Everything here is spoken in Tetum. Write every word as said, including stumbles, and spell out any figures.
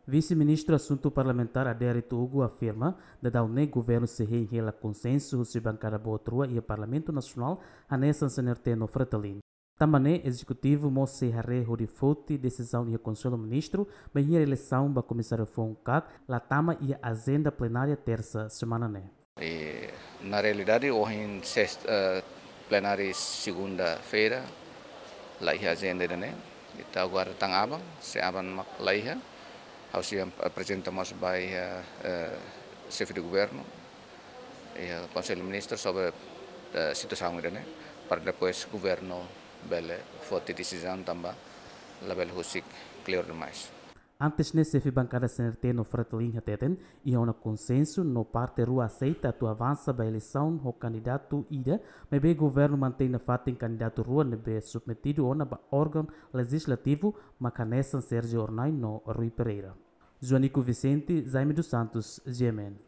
Vise-Ministru Asuntu Parlamentár Adérito Hugo afirma, dadaun ne'e governu sei hein hela konsensu husi bankada boot rua iha Parlamentu Nasionál, hanesan C N R T no Fretilin. Tanba ne'e ezekutivu mós sei haree hodi foti desizaun iha Konsellu Ministru, bainhira eleisaun ba komisáriu foun kak la tama iha ajenda plenária tersa semana ne'e. I na realidade, ohin sesta, eh, plenária segunda-feira, la iha ajenda ida-ne'e. Ita aguarda tan aban, se aban mak la iha, ha'u sei aprezenta mós ba iha, eh, xefe de governu, iha Konsellu Ministru sobre, eh, situasaun ida-ne'e, para depois governu bele foti desizaun tanba labele husik kleur demais. Antes ne'e, xefe bankada C N R T no Fretilin hateten, iha ona konsensu no parte rua aseita atu avansa ba eleisaun ho kandidatu ida, maibé governu mantein nafatin kandidatu rua ne'ebé submetidu ona ba órgaun lejizlativu, mak hanesan Sérgio Hornai no Rui Pereira. Joanico Vicente, Jaime dos Santos, G M N.